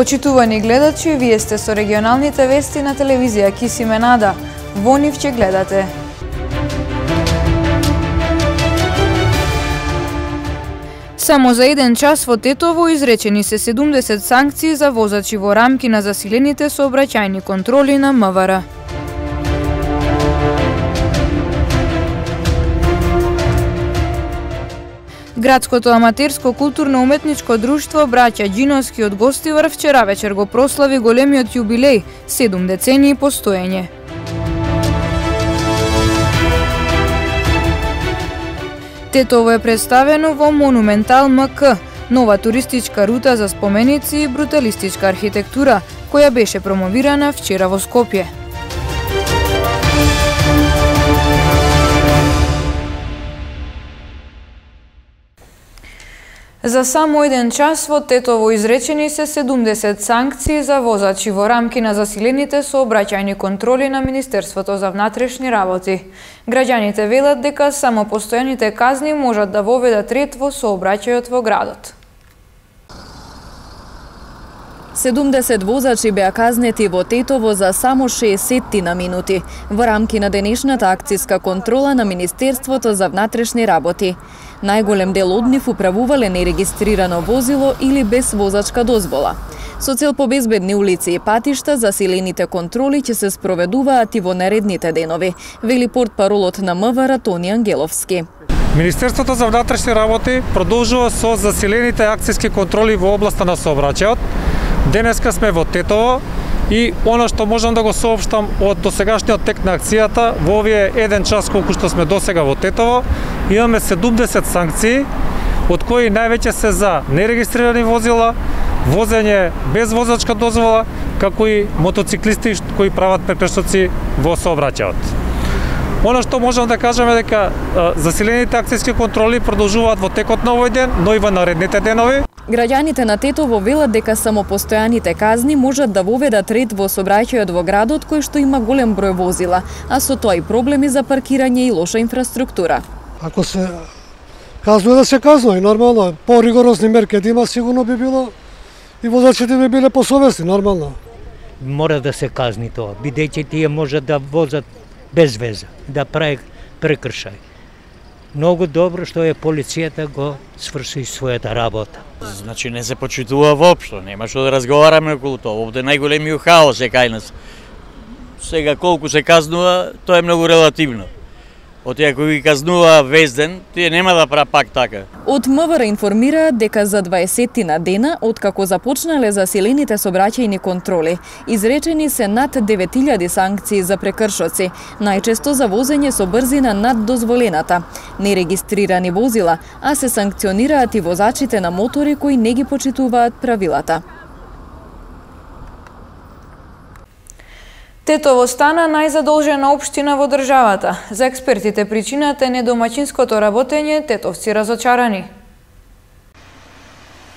Почитувани гледачи, вие сте со регионалните вести на телевизија Кисименада. Во нив ќе гледате. Само за еден час во Тетово изречени се 70 санкции за возачи во рамки на засилените сообраќајни контроли на МВР. Градското аматерско културно-уметничко друштво Браќа Џиновски од Гостивар вчера вечер го прослави големиот јубилеј, 7 децении постоење. Тетово е представено во Монументал МК, нова туристичка рута за споменици и бруталистичка архитектура, која беше промовирана вчера во Скопје. За само еден час во Тетово изречени се 70 санкции за возачи во рамки на засилените сообраќајни контроли на Министерството за внатрешни работи. Граѓаните велат дека само постојаните казни можат да воведат ред во сообраќајот во градот. 70 возачи беа казнети во Тетово за само 60 на минути во рамки на денешната акцијска контрола на Министерството за внатрешни работи. Најголем дел од нив управувале нерегистрирано возило или без возачка дозвола. Со цел по безбедни улици и патишта, засилените контроли ќе се спроведуваат и во наредните денови, вели портпаролот на МВР Тони Ангеловски. Министерството за внатрешни работи продолжува со засилените акцијски контроли во областа на сообраќајот. Денеска сме во Тетово и оно што можам да го соопштам од досегашниот тек на акцијата, во овие еден час колку што сме досега во Тетово, имаме 70 санкции, од кои највеќе се за нерегистрирани возила, возење без возачка дозвола, како и мотоциклисти кои прават прекршоци во сообраќајот. Оно што можам да кажеме дека засилените акцијски контроли продолжуваат во текот на овој ден, но и во наредните денови. Граѓаните на Тетово велат дека само постојаните казни можат да воведат ред во сообраќајот во градот кој што има голем број возила, а со тоа и проблеми за паркирање и лоша инфраструктура. Ако се казнува да се казнува, и нормално, по-ригорозни мерки да има, сигурно би било и возачите би биле посовесни, нормално. Мора да се казни тоа, бидејќи тие можат да возат без веза, да прави прекршај. Многу добро што е полицијата го сврши својата работа. Значи не се почитува воопшто, нема што да разговараме околу тоа. Овде најголемиот хаос е кај нас. Сега колку се казнува, тоа е многу релативно. Од тие кои ги казнува весь ден, тие нема да прават пак така. Од МВР информираат дека за 20 на дена, откако започнале засилените сообраќајни контроли, изречени се над 9000 санкции за прекршоци, најчесто за возење со брзина над дозволената, нерегистрирани возила, а се санкционираат и возачите на мотори кои не ги почитуваат правилата. Тетово стана најзадолжена општина во државата. За експертите причината е недомаќинското работење, тетовци разочарани.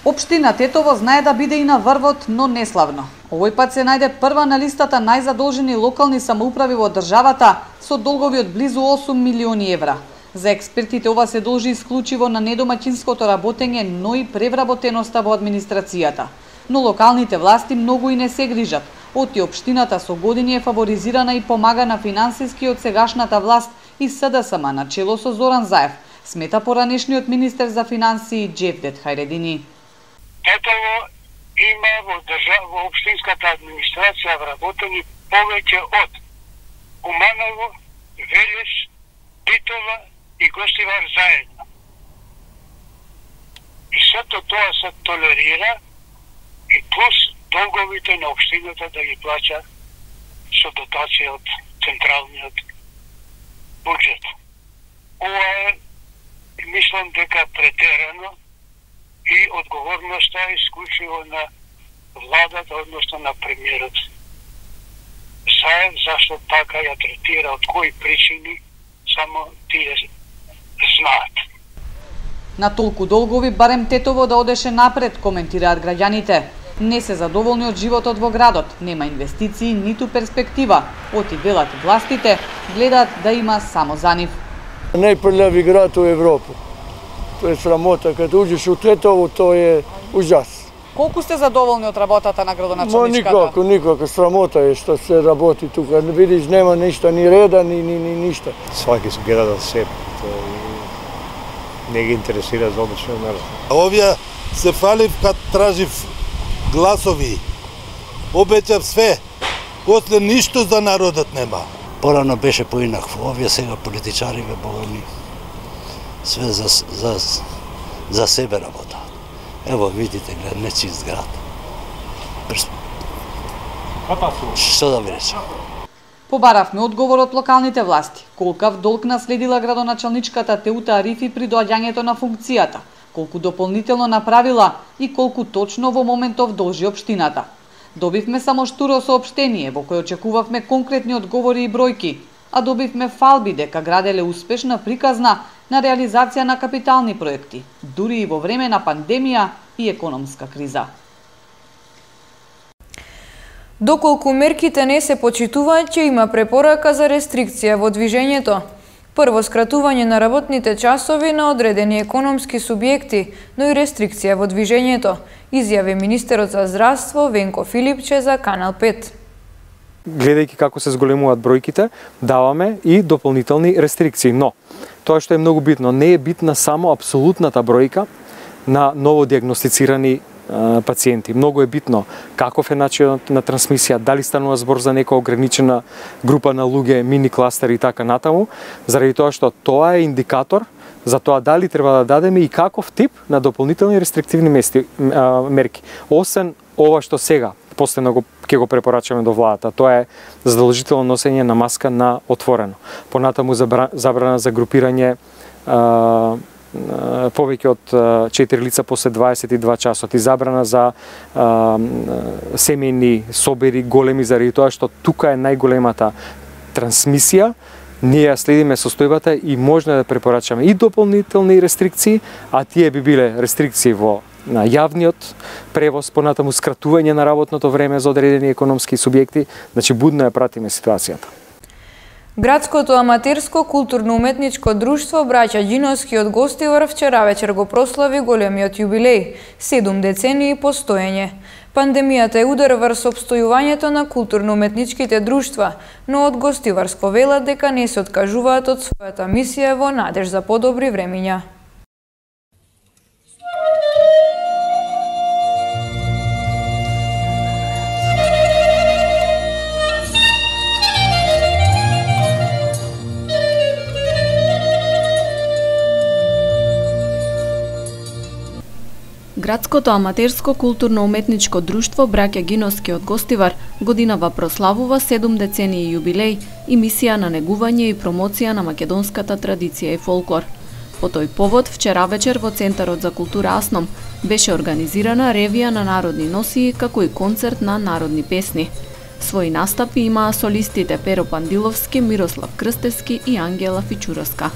Општина Тетово знае да биде и на врвот, но неславно. Овој пат се најде прва на листата најзадолжени локални самоуправи во државата со долгови од близу 8 милиони евра. За експертите ова се должи исклучиво на недомаќинското работење, но и превработеноста во администрацијата. Но локалните власти многу и не се грижат. Оти општината со години е фаворизирана и помагана финансиски од сегашната власт и СДСМ на чело со Зоран Заев, смета поранешниот министер за финансии Џевдет Хајредини. Тетово има во општинската администрација вработени повеќе од Куманово, Велес, Битола и Гостивар заедно. И сето тоа се толерира и плюс долговите на општината да ги плаќа со дотација од централниот буџет. Ова е, мислам дека претерано и одговорноста е исклучиво на владата, односно на премиерот Заев, зашто така ја третира, од кои причини, само тие знаат. На толку долгови барем Тетово да одеше напред, коментираат граѓаните. Не се задоволни од животот во градот, нема инвестиции, ниту перспектива. Оти велат властите, гледаат да има само за нив. Најпрљави град во Европа. Тоа е срамота, кога уđеш у Тетово, тоа е ужас. Колку сте задоволни од работата на градоначалничката? Никако, срамота е што се работи тука. Видиш, нема ништо, ни реда, ни ништо. Сваки се гледа да се, не ги интересира за обичен народ. Овие се фалив кад тражив гласови. Обеќав све, после ништо за народот нема. Порано беше поинакво, овие сега политичари богами све за себе работа. Ево видите, нечист град. Што да ви речам? Побаравме одговор од локалните власти. Колкав долг наследила градоначалничката Теута Арифи при доаѓањето на функцијата, колку дополнително направила и колку точно во моментов должи општината. Добивме само штуро соопштение во кое очекувавме конкретни одговори и бројки, а добивме фалби дека граделе успешна приказна на реализација на капитални проекти, дури и во време на пандемија и економска криза. Доколку мерките не се почитуваат, ќе има препорака за рестрикција во движењето. Прво, скратување на работните часови на одредени економски субјекти, но и рестрикција во движењето, изјави министерот за здравство Венко Филипче за Канал 5. Гледајќи како се зголемуваат бројките, даваме и дополнителни рестрикции, но тоа што е многу битно, не е битна само апсолутната бројка на новодиагностицирани пациенти. Многу е битно каков е начинот на трансмисија, дали станува збор за нека ограничена група на луѓе, мини кластери и така натаму, заради тоа што тоа е индикатор за тоа дали треба да дадеме и каков тип на дополнителни рестриктивни мерки. Освен ова што сега постојано ќе го препорачаме до владата, тоа е задолжително носење на маска на отворено. Понатаму забрана за групирање повеќе од 4 лица после 22 часот и забрана за семејни собери големи, заради тоа што тука е најголемата трансмисија. Ние ја следиме состојбата и можна да препорачаме и дополнителни рестрикции, а тие би биле рестрикции на јавниот превоз, понатаму скратување на работното време за одредени економски субјекти, значи будно ја пратиме ситуацијата. Градското аматерско културно-уметничко друштво Браќа Ѓиновски од Гостивар вчера вечер го прослави големиот јубилеј – 7 децении постоење. Пандемијата е удар врз опстојувањето на културно-уметничките друштва, но од Гостиварско велат дека не се откажуваат од својата мисија во надеж за подобри времиња. Градското аматерско културно-уметничко друштво Браќа Ѓиновски од Гостивар годинава прославува 7 децении јубилеј и мисија на негување и промоција на македонската традиција и фолклор. По тој повод, вчера вечер во Центарот за култура Асном беше организирана ревија на народни носии како и концерт на народни песни. Своји настапи имаа солистите Перо Пандиловски, Мирослав Крстевски и Ангела Фичуровска.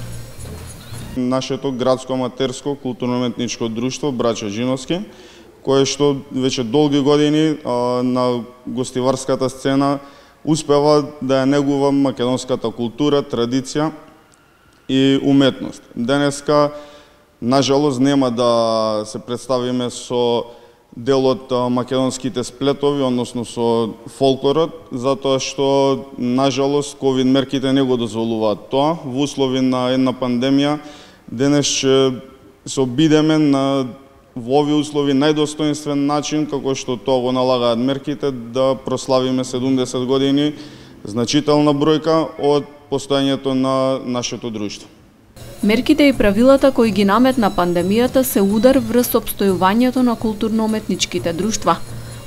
Нашето градско аматерско културно-уметничко друштво Браќа Ѓиновски, кое што веќе долги години на гостиварската сцена успева да ја негува македонската култура, традиција и уметност. Денеска, нажалост, нема да се представиме со дел од македонските сплетови, односно со фолклорот, затоа што, нажалост, ковид мерките не го дозволуваат тоа. Во услови на една пандемија, денес ќе се обидеме во овие услови најдостоинствен начин, како што тоа го налагаат мерките, да прославиме 70 години, значителна бројка од постојањето на нашето друштво. Мерките и правилата кои ги наметна пандемијата се удар врз опстојувањето на културно-уметничките друштва.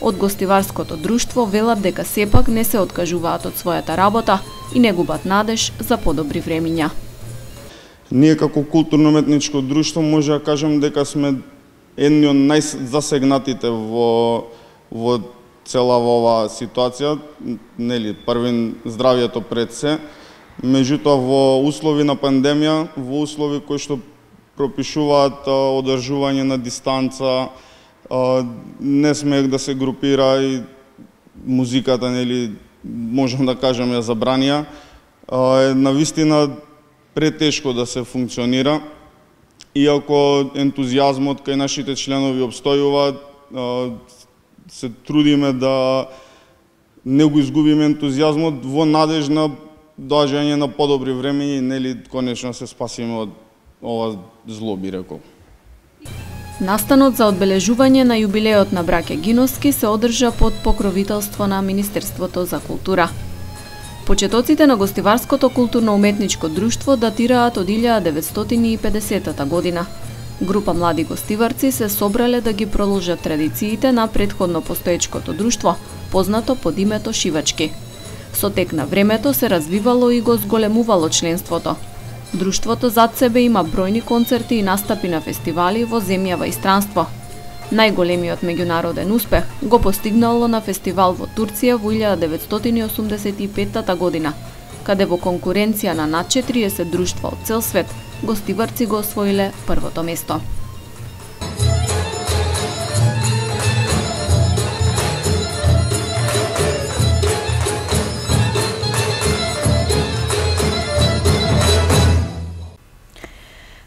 Од Гостиварското друштво велат дека сепак не се откажуваат од својата работа и не губат надеж за подобри времиња. Ние како културно-уметничко друштво може да кажем дека сме едни од најзасегнатите во цела оваа ситуација, нели, првин здравјето пред се. Меѓутоа, во услови на пандемија, во услови кои што пропишуваат одржување на дистанца, не смех да се групира и музиката, нели, можам да кажем, ја забранија, е навистина претешко да се функционира. Иако ентузијазмот кај нашите членови обстојува, се трудиме да не го изгубиме ентузијазмот во надеж на доаѓање на подобри времења и нели конечно се спасиме од ова зло, би рекол. Настанот за одбележување на јубилеот на браќа Гиновски се одржа под покровителство на Министерството за култура. Почетоците на гостиварското културно-уметничко друштво датираат од 1950 година. Група млади гостиварци се собрале да ги продолжат традициите на претходно постоечкото друштво, познато под името Шивачки. Со тек на времето се развивало и го зголемувало членството. Друштвото зад себе има бројни концерти и настапи на фестивали во земјава и странство. Најголемиот меѓународен успех го постигнало на фестивал во Турција во 1985 година, каде во конкуренција на над 40 друштва од цел свет, гостиварци го освоиле првото место.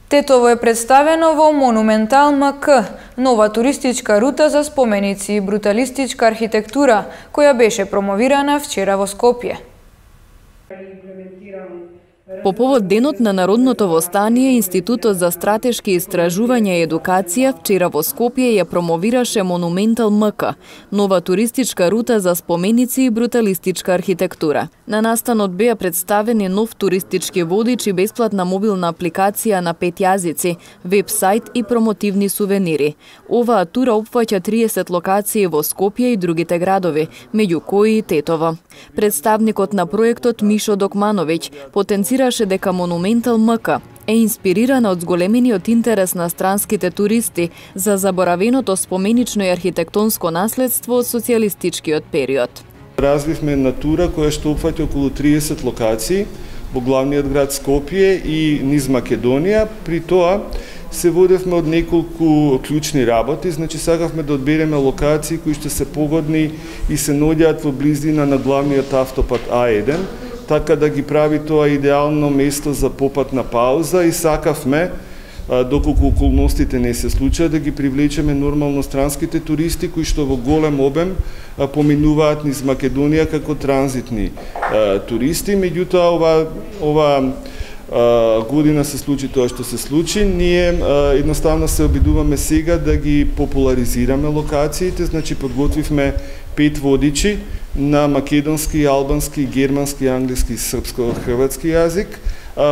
Тетово е представено во Монументал МК, нова туристичка рута за споменици и бруталистичка архитектура, која беше промовирана вчера во Скопје. По повод денот на Народното востание, Институтот за стратешки истражувања и едукација вчера во Скопје ја промовираше Монументал МК, нова туристичка рута за споменици и бруталистичка архитектура. На настанот беа представени нов туристички водич и бесплатна мобилна апликација на 5 јазици, веб-сајт и промотивни сувенири. Оваа тура опфаќа 30 локации во Скопје и другите градови, меѓу кои и Тетово. Представникот на проектот Мишо Докмановиќ потенцираше дека Монументал МК е инспирирана од зголемениот интерес на странските туристи за заборавеното споменично и архитектонско наследство од социјалистичкиот период. Развивме на тура која што опфаќа околу 30 локации во главниот град Скопје и низ Македонија. При тоа се водевме од неколку клучни работи, значи сакавме да одбереме локации кои што се погодни и се наоѓаат во близина на главниот автопат А1, така да ги прави тоа идеално место за попатна пауза и сакавме, доколку околностите не се случаат, да ги привлечеме нормално странските туристи кои што во голем обем поминуваат низ Македонија како транзитни туристи. Меѓутоа ова година се случи тоа што се случи. Ние едноставно се обидуваме сега да ги популаризираме локациите, значи подготвивме 5 водичи на македонски, албански, германски, англиски, српско-хрватски јазик,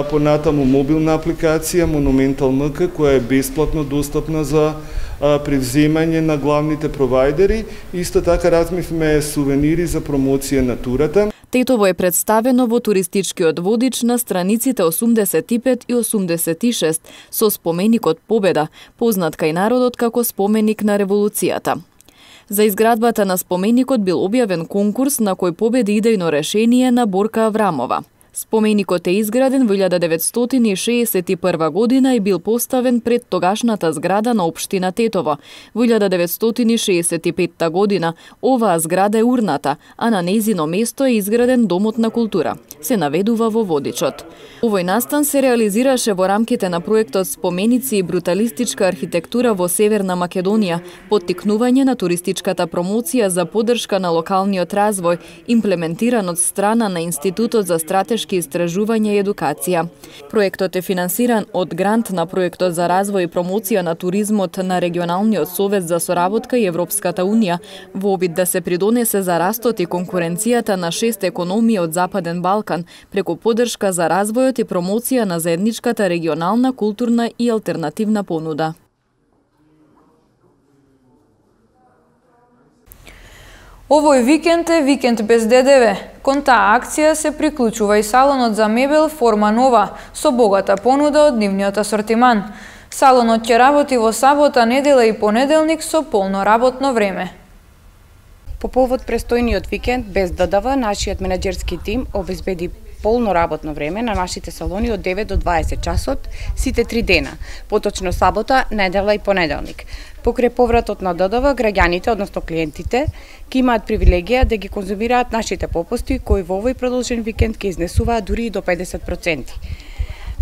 понатаму мобилна апликација Монументал МК која е бесплатно достапна за превземање на главните провајдери. Исто така размивме сувенири за промоција на турата. Тетово е представено во туристичкиот водич на страниците 85 и 86 со споменикот Победа, познат кај народот како споменик на револуцијата. За изградбата на споменикот бил објавен конкурс на кој победи идејно решение на Борка Аврамова. Споменикот е изграден во 1961 година и бил поставен пред тогашната зграда на општина Тетово. Во 1965 година оваа зграда е урната, а на нејзино место е изграден Домот на култура. Се наведува во водичот. Овој настан се реализираше во рамките на проектот Споменици и бруталистичка архитектура во Северна Македонија, поттикнување на туристичката промоција за поддршка на локалниот развој, имплементиран од страна на Институтот за стратешки истражувања и едукација. Проектот е финансиран од грант на Проектот за развој и промоција на туризмот на Регионалниот совет за соработка и Европската унија во обид да се придонесе за растот и конкуренцијата на 6 економии од Западен Балкан преку поддршка за развојот и промоција на заедничката регионална, културна и алтернативна понуда. Овој викенд е викенд без ДДВ. Кон таа акција се приклучува и салонот за мебел Форма Нова со богата понуда од нивниот асортиман. Салонот ќе работи во сабота, недела и понеделник со полно работно време. По повод престојниот викенд без ДДВ, нашиот менаџерски тим обезбеди полно работно време на нашите салони од 9 до 20 часот, сите 3 дена, поточно сабота, недела и понеделник. Покрај повратот на ДДВ, граѓаните, односно клиентите, ќе имаат привилегија да ги конзумираат нашите попусти, кои во овој продолжен викенд ќе изнесуваат дури и до 50%.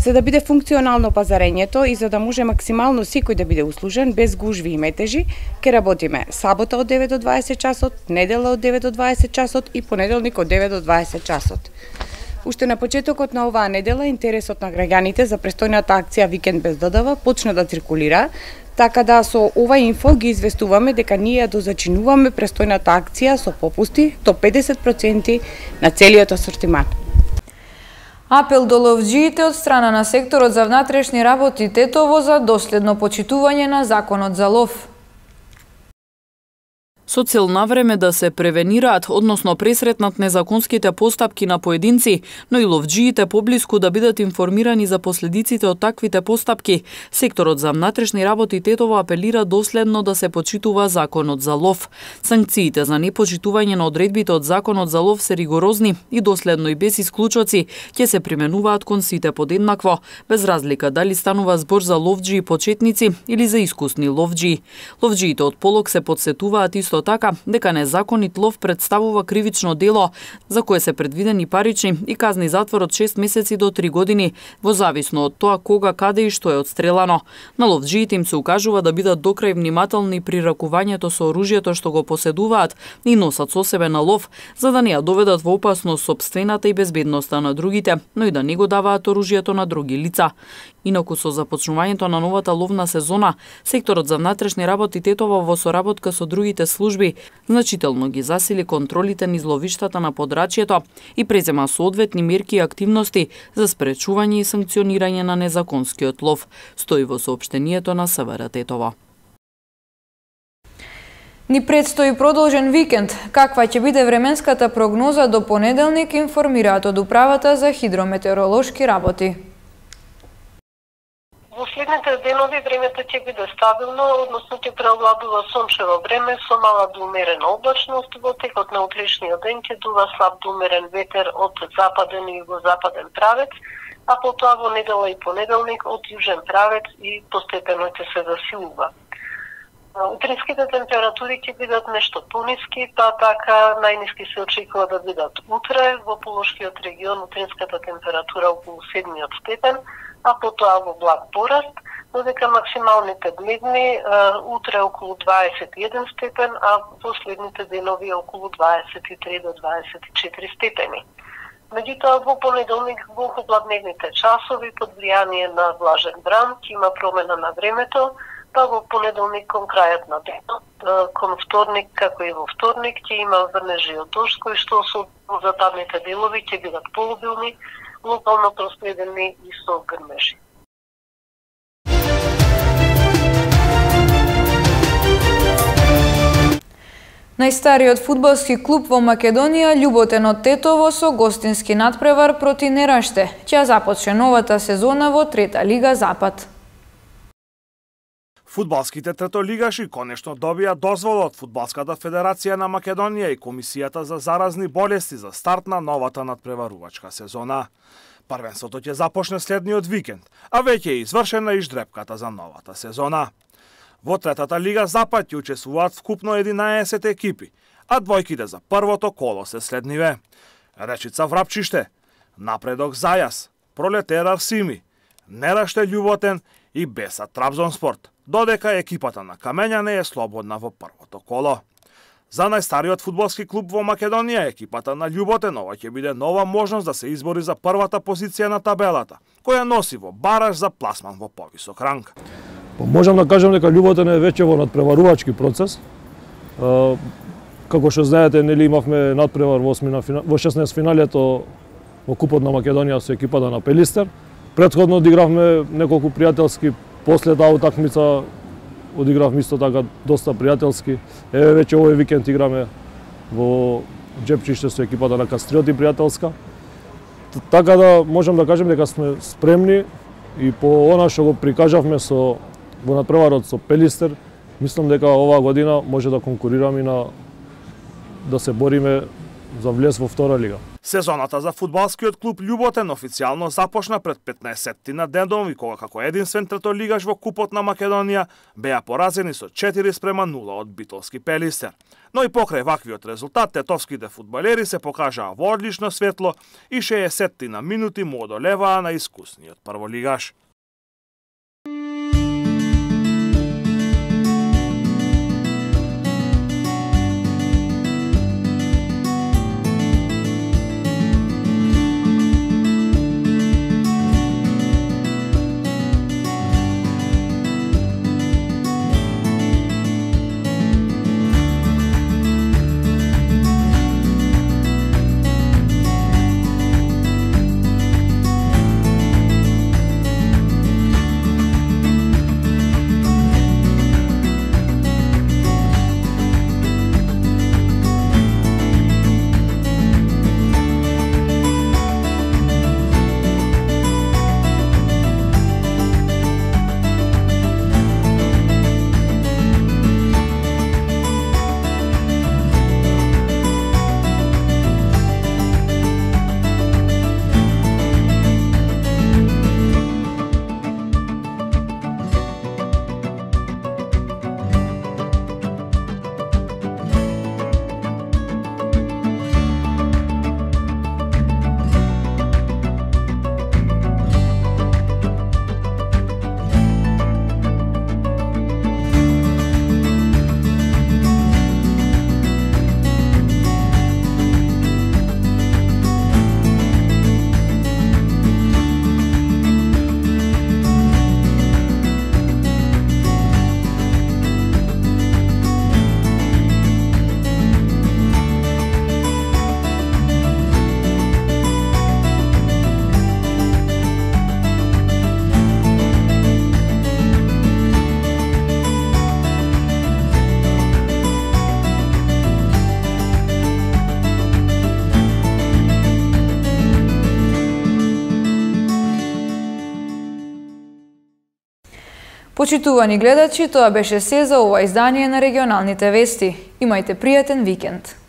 За да биде функционално пазарењето и за да може максимално секој да биде услужен без гужви и метежи, ќе работиме сабота од 9 до 20 часот, недела од 9 до 20 часот и понеделник од 9 до 20 часот. Уште на почетокот на оваа недела интересот на граѓаните за престојната акција Викенд без ДДВ почна да циркулира, така да со ова инфо ги известуваме дека ние дозачинуваме престојната акција со попусти до 50% на целиот асортиман. Апел до ловџиите од страна на секторот за внатрешни работи Тетово за доследно почитување на законот за лов. Со цел навреме да се превенираат, односно пресретнат незаконските постапки на поединци, но и ловџиите поблиску да бидат информирани за последиците од таквите постапки, секторот за внатрешни работи Тетово апелира доследно да се почитува законот за лов. Санкциите за непочитување на одредбите од законот за лов се ригорозни и доследно и без исклучоци ќе се применуваат кон сите подеднакво, без разлика дали станува збор за ловџии почетници или за искусни ловџии. Ловџиите од полог се подсетуваат исто така дека незаконит лов представува кривично дело за кое се предвидени парични и казни затвор од 6 месеци до 3 години, во зависно од тоа кога, каде и што е отстрелано. На ловџиите им се укажува да бидат докрај внимателни при ракувањето со оружјето што го поседуваат и носат со себе на лов, за да не ја доведат во опасност сопствената и безбедноста на другите, но и да не го даваат оружјето на други лица. Инаку со започнувањето на новата ловна сезона, секторот за внатрешни работи Тетово во соработка со другите служби значително ги засили контролите низ ловиштата на подрачјето и презема соодветни мерки и активности за спречување и санкционирање на незаконскиот лов, стои во соопштението на СВР Тетово. Ни предстои продолжен викенд. Каква ќе биде временската прогноза до понеделник, информираат од Управата за хидрометеоролошки работи. Во следните денови времето ќе биде стабилно, односно ќе преовладува сончево време со мала до умерена облачност. Во текот на утрешниот ден ќе дува слаб до умерен ветер од западен и югозападен правец, а потоа во недела и понеделник од јужен правец и постепено ќе се засилува. Утринските температури ќе бидат нешто пониски, па така најниски се очекува да бидат утре. Во Полошкиот регион утринската температура околу 7 степен, а потоа во благ пораст, додека максималните дневни утре околу 21 степен, а последните денови околу 23 до 24 степени. Меѓутоа во понеделник во хладневните часови под влијание на влажен бран ќе има промена на времето, па во понеделник кон крајот на денот, кон вторник како и во вторник ќе има врнежи од дожд кои што со западните делови ќе бидат пообилни, локално проследени и со грмежи. Најстариот фудбалски клуб во Македонија, Љуботен од Тетово, со гостински надпревар проти Нераште, ќе започне новата сезона во Трета лига Запад. Фудбалските третолигаши конечно добија дозвола од Фудбалската федерација на Македонија и Комисијата за заразни болести за старт на новата надпреварувачка сезона. Првенството ќе започне следниот викенд, а веќе е извршена и ждрепката за новата сезона. Во Третата лига Запад ќе учествуваат вкупно 11 екипи, а двојките за првото коло се следниве: Речица Врапчиште, Напредок Зајас, Пролетер Арсими, Нераште Љуботен и Беса Трабзонспорт, додека екипата на Камењане е слободна во првото коло. За најстариот фудбалски клуб во Македонија, екипата на Љуботен, ова ќе биде нова можност да се избори за првата позиција на табелата, која носи во бараж за пласман во повисок ранг. Можам да кажам дека Љуботен е веќе во надпреварувачки процес. Како што знаете, нели имавме надпревар во 16 финалето во Купот на Македонија со екипата на Пелистер. Претходно одигравме неколку пријателски, после таа утакмица одигравме исто така доста пријателски. Еве веќе овој викенд играме во Джепчиште со екипата на Кастриоти пријателска. Така да можам да кажем дека сме спремни и по она што го прикажавме во надпреварот со Пелистер, мислам дека оваа година може да конкурираме и да се бориме за влез во втора лига. Сезоната за фудбалскиот клуб Љуботен официјално започна пред 15 на денови, кога како единствен третолигаш во Купот на Македонија беа поразени со 4:0 од Битолски Пелистер. Но и покрај ваквиот резултат, тетовските фудбалери се покажаа во одлично светло и 60 на минути му одолеваа на искусниот прволигаш. Почитувани гледачи, тоа беше се за ова издание на регионалните вести. Имајте пријатен викенд.